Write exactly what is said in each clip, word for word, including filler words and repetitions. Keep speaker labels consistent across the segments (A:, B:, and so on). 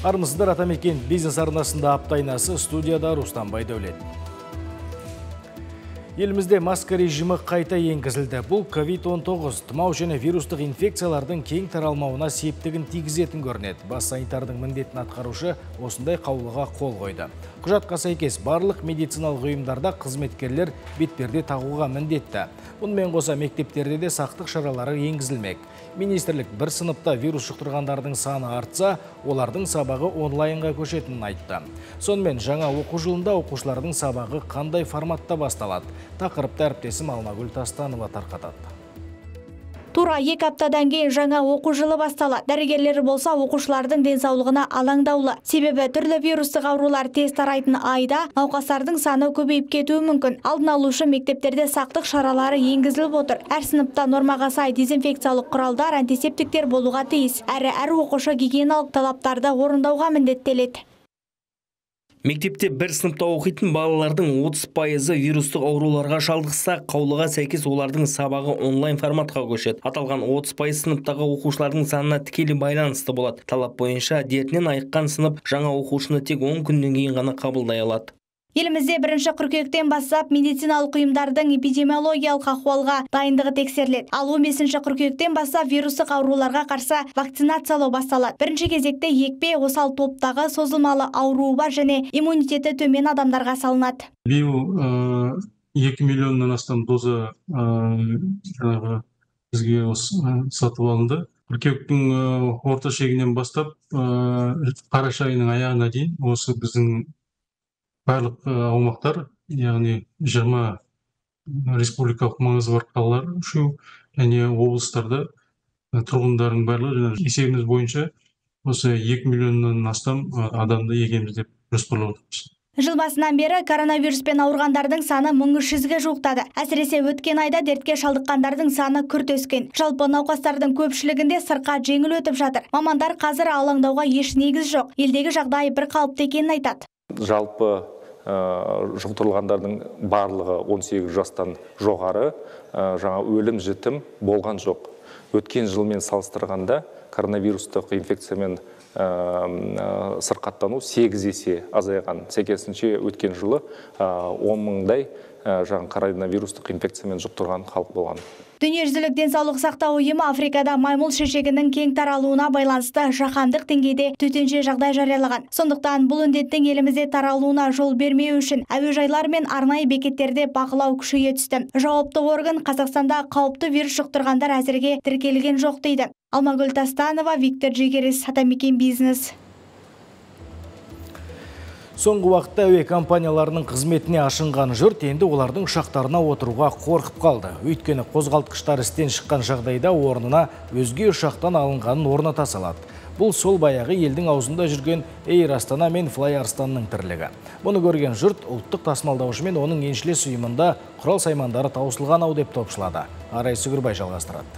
A: Армысыздар, Атамекен бизнес арнасында аптайнасы, студияда Рустам Байдәулет. Елімізде маска режимі қайта енгізілді. Бұл ковид он тоғыз, тұмау және вирустық инфекциялардың кең таралмауына септігін тигізетін көрінеді. Бас санитардың міндетін атқарушы осындай қаулыға қол қойды. Құжатқа сәйкес барлық медициналық ұйымдарда қызметкерлер бетперде тағуға міндетті. Бұнымен қоса мектептерде де сақтық шаралары енгізілмек. Министрлік бір сыныпта вирус жұқтырғандардың саны артса, олардың сабағы онлайнға көшетінін айтты. Сонымен жаңа оқу жылында оқушылардың сабағы қандай форматта басталады? Тақырыпты әріптесім Алмагүл Тастанова тарқатады.
B: Тура екі аптадан кейін жаңа оқу жылы басталады. Дәрігерлері болса оқушылардың денсаулығына алаңдаулы. Себебі түрлі вирустық аурулар тез тарайтын айда науқастардың саны көбейіп кетуі мүмкін. Алдын алушы мектептерде сақтық шаралары енгізіліп отыр. Әр сыныпта нормаға сай дезинфекциялық құралдар, антисептиктер болуға тиіс. Әрі әр оқушы гигиеналық талаптарды орындауға міндеттеледі.
C: Мектепте бір сыныпта оқитын балалардың отыз пайызы вирустық ауруларға шалдықса, қаулыға сәйкес олардың сабағы онлайн форматқа көшеді. Аталған отыз пайыз сыныптағы оқушылардың санына тікелей байланысты болады. Талап бойынша дертінен айыққан сынып жаңа оқушыны тек он күннен кейін ғана қабылдай алады.
B: Елімізде бірінші қыркүйектен бастап медициналық ұйымдардың эпидемиологиялық ахуалға дайындығы тексеріледі. Ал он бесінші қыркүйектен бастап вирустық ауруларға қарсы вакцинациялау басталады. Бірінші кезекте екпе осал топтағы созылмалы ауруы бар және иммунитеті төмен адамдарға салынады.
D: Биыл екі миллионнан астам доза бізге сатып алынды. Қыркүйектің орта шегінен бастап қараша айының аяғына дейін осы біздің барлық аумақтар, яғни жиырма республикалық маңызы бар қалалар, үшеу және облыстарда тұрғындардың барлығы есебіміз бойынша осы екі миллионнан астам адамды егеміз деп жоспарлап отырмыз.
B: Жыл басынан бері коронавируспен ауырғандардың саны мың үш жүзге жуықтады. Әсіресе өткен айда дертке шалдыққандардың саны күрт өскен. Жалпы науқастардың көпшілігінде сырқат жеңіл өтіп жатыр. Мамандар қазір алаңдауға еш негіз жоқ. Елдегі жағдай бір қалыпты екенін айтады.
E: Жалпы жұқтырылғандардың барлығы он сегіз жастан жоғары, жаңа өлім жітім болған жоқ. Өткен жылмен салыстырғанда коронавирустық инфекциямен сырқаттану сегіз есе азайған. Сәйкесінше өткен жылы он мыңдай жаңа коронавирустық инфекциямен жұқтырған халық болған.
B: Дүниежүзілік денсаулық сақтау ұйымы Африкада маймыл шешегінің кең таралуына байланысты жаһандық деңгейде төтенше жағдай жариялаған. Сондықтан бұл індеттің елімізде таралуына жол бермеу үшін әуежайлар мен арнайы бекеттерде бақылау күшейе түсті. Жауапты орган Қазақстанда қауіпті вирус жұқтырғандар әзірге тіркелген жоқ дейді. Алмагүл Тастанова, Виктор Жегерес, Атамекен бизнес.
A: Соңғы уақытта әуе компанияларының қызметіне ашынған жұрт енді олардың ұшақтарына отыруға қорқып қалды. Өйткені қозғалтқыштар істен шыққан жағдайда орнына өзге ұшақтан алынғанын орната салады. Бұл сол баяғы елдің аузында жүрген Air Astana мен Fly Arstanның тірлігі. Бұны көрген жұрт ұлттық тасымалдаушы мен оның еншілес ұйымында құрал саймандары таусылған ау деп топшылады. Арай Сүгірбай жалғастырады.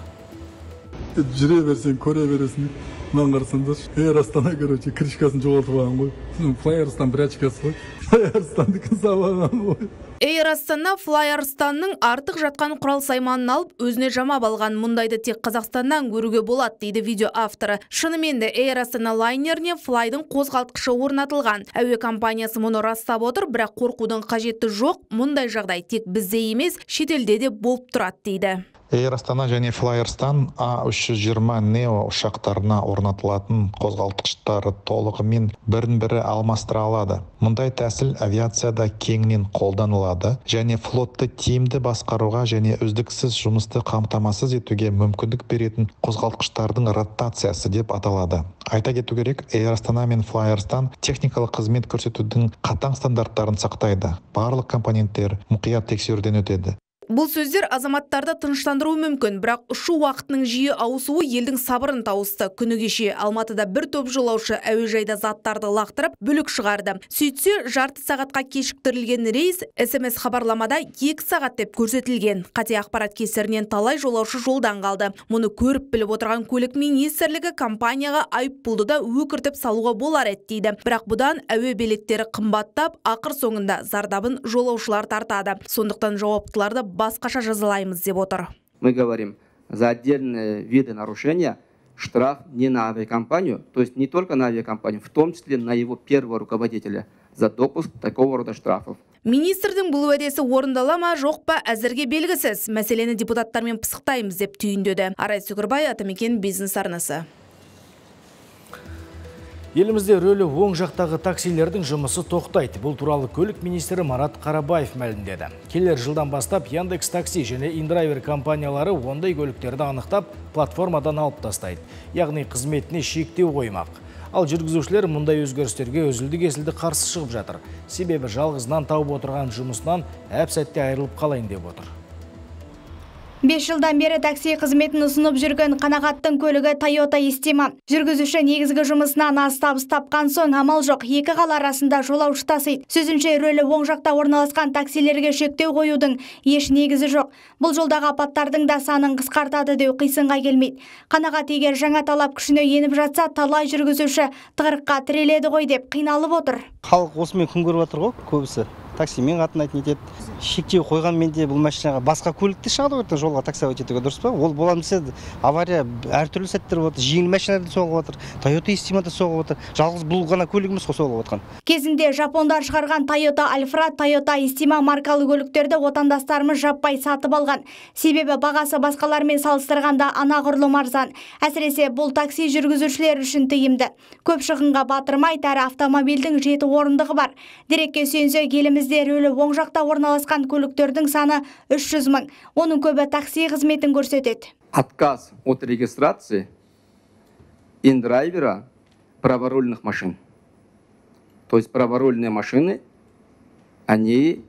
F: Жүре берсең, көре бересің. Мен қарсаңдар, Air Astana, короче, крышкасын жоғалтып алған ғой. Fly Arstan бір очкасы ғой. Fly Arstan'дікін сабаған ғой.
G: Air Astana Fly Arstanның артық жатқан құрал сайманын алып, өзіне жамап алған. Мұндайды тек Қазақстаннан көруге болады, дейді видео авторы. Шынымен де Air Astana лайнеріне Flyдың қозғалтқышы орнатылған. Әуе компаниясы мұны растап отыр, бірақ қорқудың қажеті жоқ. Мұндай жағдай тек бізде емес, шетелде де болып тұрады, дейді.
H: Air Astana және Fly Arstan А үш жүз жиырма нео ұшақтарына орнатылатын қозғалтқыштары толығымен бірін-бірі алмастыра алады. Мұндай тәсіл авиацияда кеңінен қолданылады және флотты тиімді басқаруға және үздіксіз жұмысты қамтамасыз етуге мүмкіндік беретін қозғалтқыштардың ротациясы деп аталады. Айта кету керек, Air Astana мен Fly Arstan техникалық қызмет көрсетудің қатаң стандарттарын сақтайды. Барлық компоненттер мұқият тексеруден өтеді.
G: Бұл сөздер азаматтарды тыныштандыру мүмкін, бірақ ұшу уақытының жиі ауысуы елдің сабырын тауысты. Күні кеше Алматыда бір топ жолаушы әуежайда заттарды лақтырып, бүлік шығарды. Сөйтсе, жарты сағатқа кешіктірілген рейс эс эм эс хабарламада екі сағат деп көрсетілген. Қате ақпарат кесірінен талай жолаушы жолдан қалды. Мұны көріп біліп отырған көлік министрлігі компанияға айыппұлды да өкіртіп салуға болар еді дейді. Бірақ бұдан әуе билеттері қымбаттап, ақыр соңында зардабын жолаушылар тартады. Сондықтан жауаптыларды басқаша жазалаймыз деп отыр.
I: Мы говорим, за отдельные виды нарушения штраф не на авиакомпанию, то есть не только на авиакомпанию, в том числе на его первого руководителя за допуск такого рода штрафов.
G: Министрдің бұл уәдесі орындала ма жоқ па әзірге белгісіз. Мәселені депутаттармен пысықтаймыз деп түйіндеді. Арай Сүгірбай, Атамекен бизнес арнасы.
A: Елімізде рөлі оң жақтағы таксилердің жұмысы тоқтайды. Бұл туралы көлік министрі Марат Қарабаев мәлімдеді. Келер жылдан бастап Яндекс Такси және Индрайвер компаниялары ондай көліктерді анықтап, платформадан алып тастайды. Яғни қызметіне шектеу қоймақ. Ал жүргізушілер мұндай өзгерістерге үзілді-кесілді қарсы шығып жатыр. Себебі жалғызынан тауып отырған жұмысынан әп сәтте айырылып қалайын деп отыр.
B: бес жылдан бері такси қызметін ұсынып жүрген қанағаттың көлігі Toyota Estima. Жүргізуші негізгі жұмысынан аз табыс тапқан соң амал жоқ, екі қала арасында жолаушы тасиды. Сөзінше, рөлі оң жақта орналасқан таксилерге шектеу қоюдың еш негізі жоқ. Бұл жолдағы апаттардың да санын қысқартады деу қисынға келмейді. Қанағат егер жаңа талап күшіне еніп жатса, талай жүргізуші тығырыққа тіреледі ғой деп қиналып отыр.
J: Халық осымен күн көріп отыр ғой, көбісі. Таксимен қатынайтын етеді. Шектеу қойғанмен де бұл машинаға басқа көлікте шығады ғой, жолға такси өтетуге дұрыс па? Ол боламыз авария әртүрлі сәттер болады. Жеңіл машиналарда соғып отыр, Toyota Estima'да соғып отыр. Жалғыз бұл ғана көлігіміз соғып отқан.
B: Кезінде жапондар шығарған Toyota Alphra, Toyota Estima маркалы көліктерді отандастарымыз жаппай сатып алған. Себебі бағасы басқалармен салыстырғанда анағұрлым арзан. Әсіресе бұл такси жүргізушілер үшін тиімді. Көп шығынға батырмайды, әрі автомобильдің жеті орындығы бар. Дерекке сүйенсек, елімізде рөлі оң жақта орналасқан көліктердің саны үш жүз мың. Оның көбі такси қызметін көрсетеді.
I: Отказ от регистрации индрайвера праворульных машин. То есть праворульные машины, они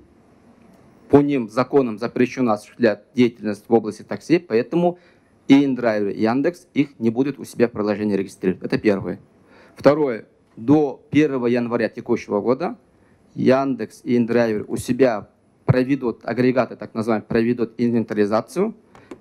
I: по ним законом запрещено осуществлять деятельность в области такси, поэтому и индрайвер, и Яндекс их не будут у себя в приложении регистрировать. Это первое. Второе. До первого января текущего года Яндекс и Индрайвер у себя проведут, агрегаты так называемые, проведут инвентаризацию,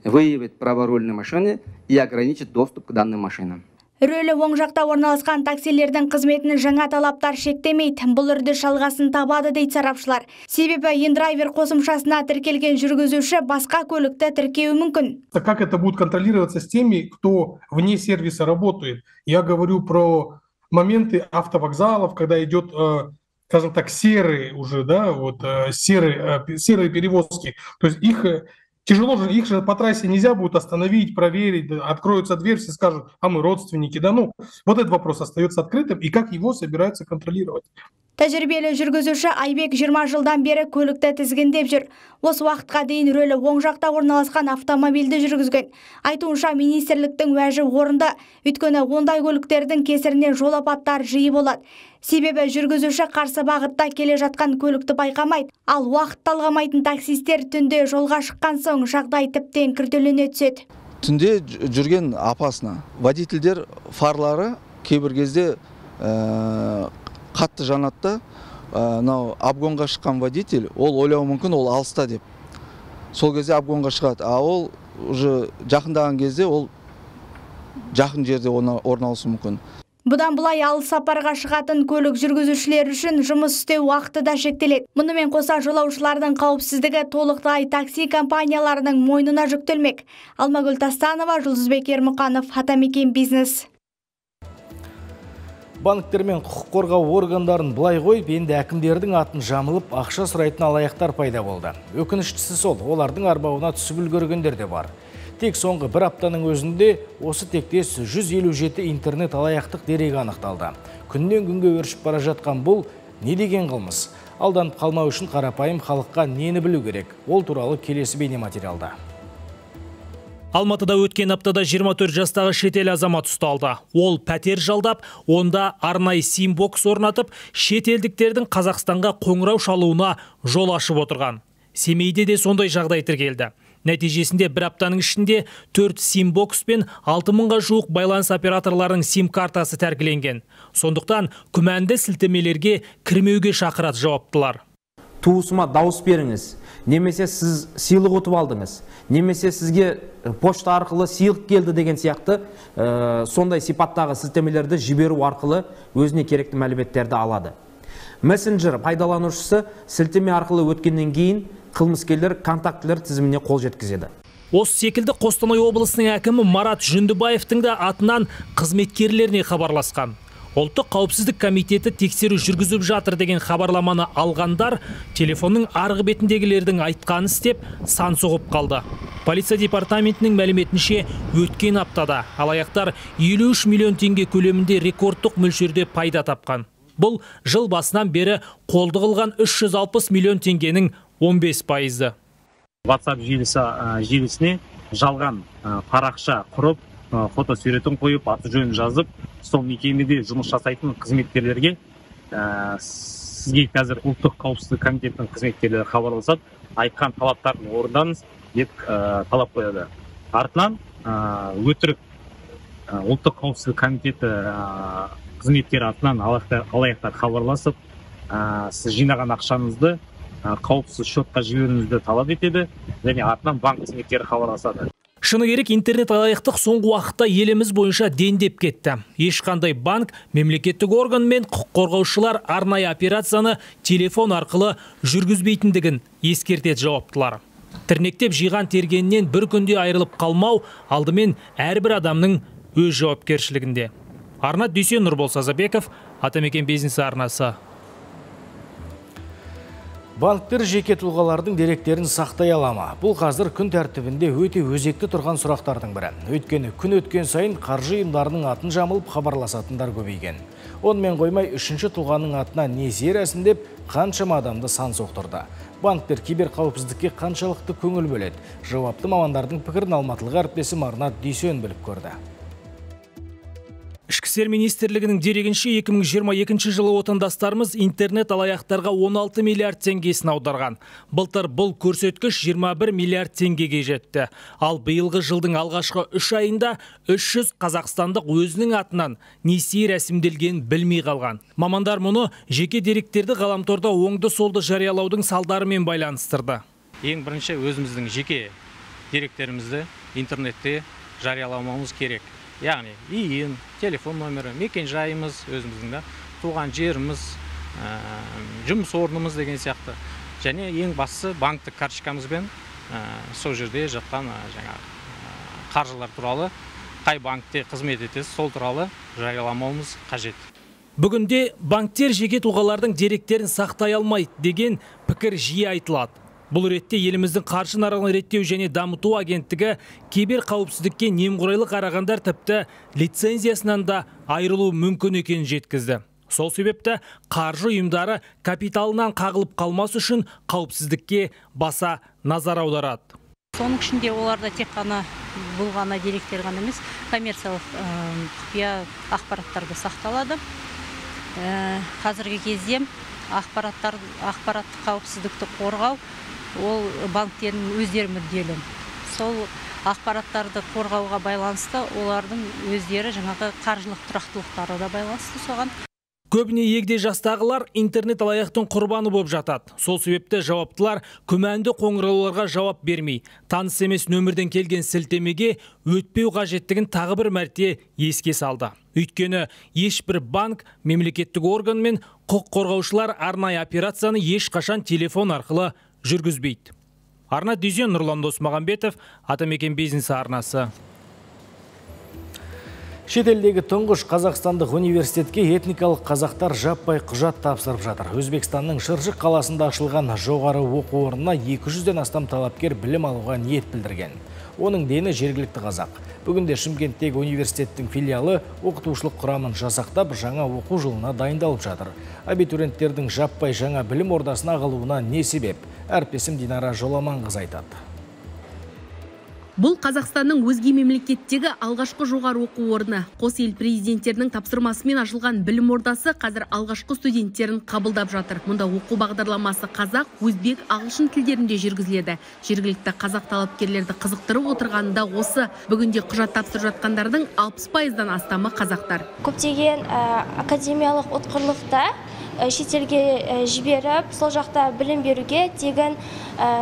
I: выявят праворульные машины и ограничат доступ к данным машинам.
B: Рөлі оң жақта орналасқан таксилердің қызметінің жаңа талаптар шектемейді. Бұл үрді шалғасын табады дейді сарапшылар. Себебі Индрайвер қосымшасына тіркелген жүргізуші басқа көлікті тіркеуі мүмкін.
K: Как это будет контролироваться с теми, кто вне сервиса работает? Я говорю про моменты автовокзалов, когда идет, скажем так, серые уже, да, вот серые, серые перевозки. То есть их тяжело же, их же по трассе нельзя будет остановить, проверить, откроются дверь, все скажут, а мы родственники, да, ну, вот этот вопрос остается открытым, и как его собираются контролировать.
B: Тәжірибелі жүргізуші Айбек жиырма жылдан бері көлікті тізгіндеп жүр. Осы уақытқа дейін рөлі оң жақта орналасқан автомобильді жүргізген. Айтуынша министрліктің уәжі орынды, өйткені ондай көліктердің кесірінен жол апаттары жиі болады. Себебі жүргізуші қарсы бағытта келе жатқан көлікті байқамайды, ал уақыт талғамайтын таксистер түнде жолға шыққан соң жағдай тіптен күрделене түседі.
L: Түнде жүрген апасына водительдер фарлары кейбір кезде қатты жанатта, мынау обгонға шыққан водитель, ол ойлауы мүмкін, ол алыста деп. Сол кезде обгонға шығады, а ол уже жақындаған кезде ол жақын жерде орналасуы мүмкін.
B: Бұдан бұлай алыс сапарға шығатын көлік жүргізушілер үшін жұмыс істеу уақыты да шектеледі. Мұнымен қоса жолаушылардың қауіпсіздігі толықтай такси компанияларының мойнына жүктелмек. Алмагүл Тастанова, Жұлдызбек Ермұқанов, Атамекен бизнес.
A: Банктер мен құқық қорғау органдарын былай қойып, енді әкімдердің атын жамылып, ақша сұрайтын алаяқтар пайда болды. Өкініштісі сол, олардың арбауына түсіп үлгергендер де бар. Тек соңғы бір аптаның өзінде осы тектес жүз елу жеті интернет алаяқтық дерегі анықталды. Күннен күнге өршіп бара жатқан бұл не деген қылмыс? Алданып қалмау үшін қарапайым халыққа нені білу керек? Ол туралы келесі бейне материалда.
C: Алматыда өткен аптада жиырма төрт жастағы шетел азамат ұсталды. Ол пәтер жалдап, онда арнайы сим-бокс орнатып, шетелдіктердің Қазақстанға қоңырау шалуына жол ашып отырған. Семейде де сондай жағдай тіркелді. Нәтижесінде бір аптаның ішінде төрт сим-бокс пен алты мыңға жуық байланыс операторларының сим-картасы тәркіленген. Сондықтан күмәнді сілтемелерге кірмеуге шақырады жауаптылар.
M: Туысыма дауыс беріңіз, немесе сіз сыйлық ұтып алдыңыз, немесе сізге почта арқылы сыйлық келді деген сияқты ә, сондай сипаттағы сілтемелерді жіберу арқылы өзіне керекті мәліметтерді алады. Мессенджер пайдаланушысы сілтеме арқылы өткеннен кейін қылмыскерлер контактілер тізіміне қол жеткізеді.
N: Осы секілді Қостанай облысының әкімі Марат Жүндібаевтың да атынан қызметкерлеріне хабарласқан. Ұлттық қауіпсіздік комитеті тексеру жүргізіп жатыр деген хабарламаны алғандар телефонның арғы бетіндегілердің айтқанын істеп сан соғып қалды. Полиция департаментінің мәліметінше өткен аптада алаяқтар елу үш миллион теңге көлемінде рекордтық мөлшерде пайда тапқан. Бұл жыл басынан бері қолды қылған үш жүз алпыс миллион теңгенің он бес пайызы.
O: WhatsApp желісі желісіне жалған парақша құрып, фотосуретін қойып, аты жөнін жазып, сол мекемеде жұмыс жасайтын қызметкерлерге сізге қазір ұлттық қауіпсіздік комитетінің қызметкерлері хабарласады, айтқан талаптарын орындаңыз деп талап қояды. Артынан өтірік ұлттық қауіпсіздік комитеті қызметкері атынан алаяқтар хабарласып, сіз жинаған ақшаңызды қауіпсіз шотқа жіберуіңізді талап етеді, және артынан банк қызметкері хабарласады.
N: Шыны керек, интернет алаяқтық соңғы уақытта еліміз бойынша дендеп кетті. Ешқандай банк, мемлекеттік орган мен құқық қорғаушылар арнайы операцияны телефон арқылы жүргізбейтіндігін ескертеді жауаптылар. Тірнектеп жиған тергенінен бір күнде айырылып қалмау алдымен әрбір адамның өз жауапкершілігінде. Арнат Дүйсен, Нұрбол Сазабеков, Атамекен бизнес арнасы.
A: Банктер жеке тұлғалардың деректерін сақтай алама. Бұл қазір күн тәртібінде өте өзекті тұрған сұрақтардың бірі. Өйткені күн өткен сайын қаржы ұйымдарының атын жамылып хабарласатындар көбейген. Онымен қоймай үшінші тұлғаның атына несие рәсімдеп қаншама адамды сан соқтырды. Банктер киберқауіпсіздікке қаншалықты көңіл бөледі? Жауапты мамандардың пікірін алматылық әріптесім Арнат Дүйсен біліп көрді.
N: Ішкі істер министрлігінің дерегінше екі мың жиырма екінші жылы отандастарымыз интернет алаяқтарға он алты миллиард теңгесін аударған. Былтыр бұл көрсеткіш жиырма бір миллиард теңгеге жетті. Ал биылғы жылдың алғашқы үш айында үш жүз қазақстандық өзінің атынан несие рәсімделген білмей қалған. Мамандар мұны жеке деректерді ғаламторда оңды-солды жариялаудың салдарымен байланыстырды.
P: Ең бірінші өзіміздің жеке деректерімізді интернетте жарияламауымыз керек. Яғни иін, телефон номері, мекен жайымыз, өзіміздің туған жеріміз, жұмыс орнымыз деген сияқты. Және ең бастысы банктік карточкамызбен сол жерде жатқан қаржылар туралы, қай банкте қызмет етесіз, сол туралы жарияламауымыз қажет.
N: Бүгінде банктер жеке тұлғалардың деректерін сақтай алмайды деген пікір жиі айтылады. Бұл ретте еліміздің қаржы нарығын реттеу және дамыту агенттігі кибер қауіпсіздікке немқұрайлы қарағандар тіпті лицензиясынан да айырылу мүмкін екенін жеткізді. Сол себепті қаржы ұйымдары капиталынан қағылып қалмас үшін қауіпсіздікке баса назар аударады.
Q: Соның ішінде оларда тек қана бұл ғана деректер ғана емес, коммерциялық құпия ақпараттарды сақталады. Қазіргі кезде ақпараттық қауіпсіздікті қорғау ол банктердің өздері мүдделі. Сол ақпараттарды қорғауға байланысты олардың өздері жаңағы қаржылық тұрақтылықтары да байланысты соған.
N: Көбіне егде жастағылар интернет алаяқтың құрбаны болып жатады. Сол себепті жауаптылар күмәнді қоңырауларға жауап бермей, таныс емес нөмірден келген сілтемеге өтпеу қажеттігін тағы бір мәрте еске салды. Өйткені ешбір банк, мемлекеттік орган мен құқық қорғаушылар арнайы операцияны ешқашан телефон арқылы жүргізбейді. Арнат Дүйсен, Нұрлан Досмағамбетов, Атамекен бизнес арнасы.
A: Шетелдегі тұңғыш Қазақстандық университетке этникалық қазақтар жаппай құжат тапсырып жатыр. Өзбекстанның Шыршық қаласында ашылған жоғары оқу орнына екі жүзден астам талапкер білім алуға ниет білдірген. Оның дені жергілікті қазақ. Бүгінде Шымкенттегі университеттің филиалы оқытушылық құрамын жасақтап, жаңа оқу жылына дайындалып жатыр. Абитуриенттердің жаппай жаңа білім ордасына ағылуына не себеп? Әріптесім Динара Жоламанқызы айтады.
R: Бұл Қазақстанның өзге мемлекеттегі алғашқы жоғары оқу орны. Қос ел президенттерінің тапсырмасымен ашылған білім ордасы қазір алғашқы студенттерін қабылдап жатыр. Мұнда оқу бағдарламасы қазақ, өзбек, ағылшын тілдерінде жүргізіледі. Жергілікті қазақ талапкерлерді қызықтырып отырғанында осы. Бүгінде құжат тапсырып жатқандардың алпыс пайыздан астамы қазақтар.
S: Көптеген академиялық ұтқырлықта шетелге жіберіп, сол жақта білім беруге тегін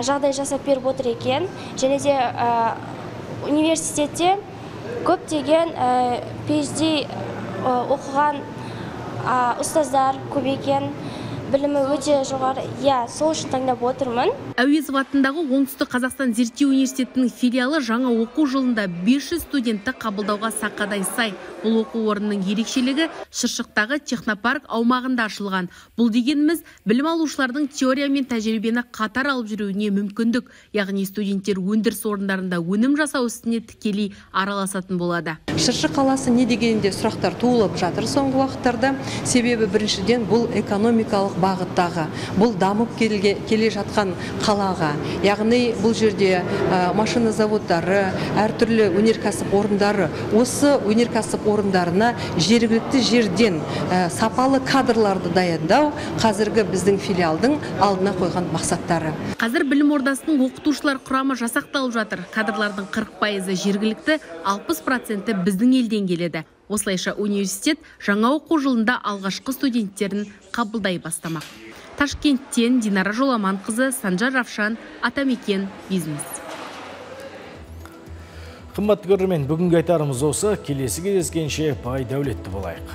S: жағдай жасап беріп отыр екен. Және де университетте көптеген пи эйч ди оқыған ұстаздар көп екен. білімі өте жоғары. Иә, сол үшін таңдап отырмын.
R: Әуезов атындағы Оңтүстік Қазақстан зерттеу университетінің филиалы жаңа оқу жылында бес жүз студентті қабылдауға сақадай сай. Бұл оқу орнының ерекшелігі Шыршықтағы технопарк аумағында ашылған. Бұл дегеніміз білім алушылардың теория мен тәжірибені қатар алып жүруіне мүмкіндік, яғни студенттер өндіріс орындарында өнім жасау ісіне тікелей араласатын болады.
T: Шыршық қаласы не дегенде сұрақтар туылып жатыр соңғы уақыттарда. Себебі біріншіден бұл экономикалық бағыттағы, бұл дамып келге, келе жатқан қалаға. Яғни бұл жерде ә, машина заводтары, әртүрлі өнеркәсіп орындары, осы өнеркәсіп орындарына жергілікті жерден ә, сапалы кадрларды даярлау қазіргі біздің филиалдың алдына қойған мақсаттары.
R: Қазір білім ордасының оқытушылар құрамы жасақталып жатыр. Кадрлардың қырық пайызы жергілікті, алпыс проценті біздің елден келеді. Осылайша университет жаңа оқу жылында алғашқы студенттерін қабылдай бастамақ. Ташкенттен Динара Жоламанқызы, Санжар Равшан, Атамекен бизнес.
A: Қымбатты көрермен, бүгінгі айтарымыз осы. Келесі кездескенше бай дәулетті болайық.